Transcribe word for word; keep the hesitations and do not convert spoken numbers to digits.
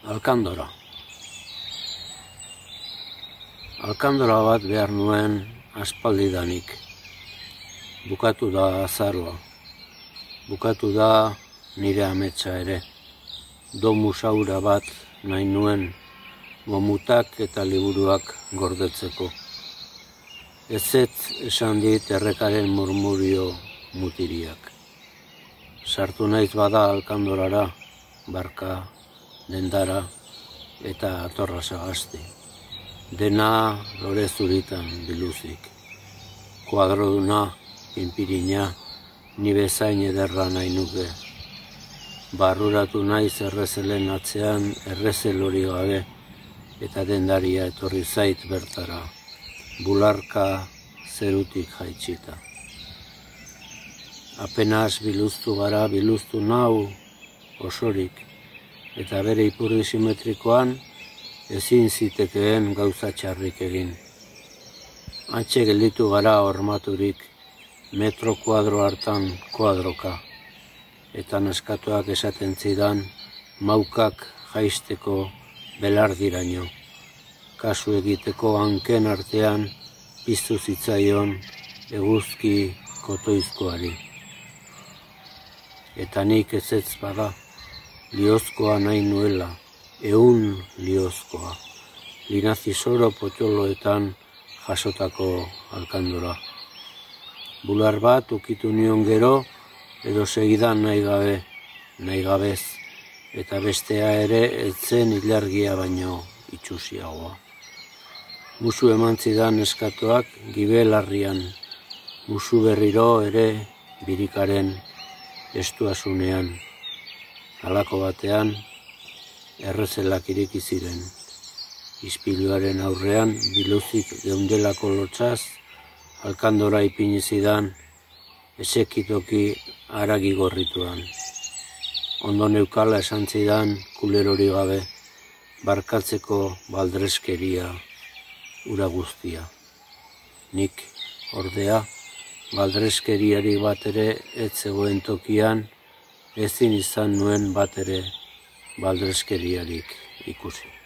Alkandora. Alkandora bat behar nuen aspaldidanik. Bukatu da azaroa. Bukatu da nire ametsa ere. Domu saura bat nahi nuen gomutak eta liburuak gordetzeko. Ezetz esan dit errekaren murmurio mutiriak. Sartu naiz bada Alkandorara, barka, dendara eta atorra sagasti. Dena lore zuritan biluzik. Kuadroduna, pinpirina, ni bezain ederra nahi nuke. Barruratu naiz errezelen atzean errezel hori gabe, eta dendaria etorri zait bertara, bularka zerutik jaitsita. Apenas biluztu gara, biluztu nau osorik, eta bere ipurdi simetrikoan ezin zitekeen gauza txarrik egin. Antxe gelditu gara hormaturik, metro kuadro hartan kuadroka, eta neskatuak esaten zidan maukak jaisteko belardiraino. Kasu egiteko hanken artean piztu zitzaion eguzki kotoizkoari. Eta nik ezetz bada, liozkoa nahi nuela, ehun liozkoa, linazizoro potxoloetan jasotako Alkandora. Bular bat ukitu nion gero, edo segidan nahi gabe, nahi gabez, eta bestea ere etzen ilargia baino itxusiagoa. Musu eman zidan eskatoak gibelarrian, musu berriro ere birikaren estuasunean. Halako batean, errezelak ireki ziren. Ispiluaren aurrean, biluzik geundelako lotsaz, Alkandora ipini zidan, esekitoki haragi gorrituan. Ondo neukala esan zidan kulerori gabe, barkatzeko baldreskeria ura guztia. Nik, ordea, baldreskeriari bat ere ez zegoen tokian, ezin izan nuen bat ere baldreskeriarik ikusi.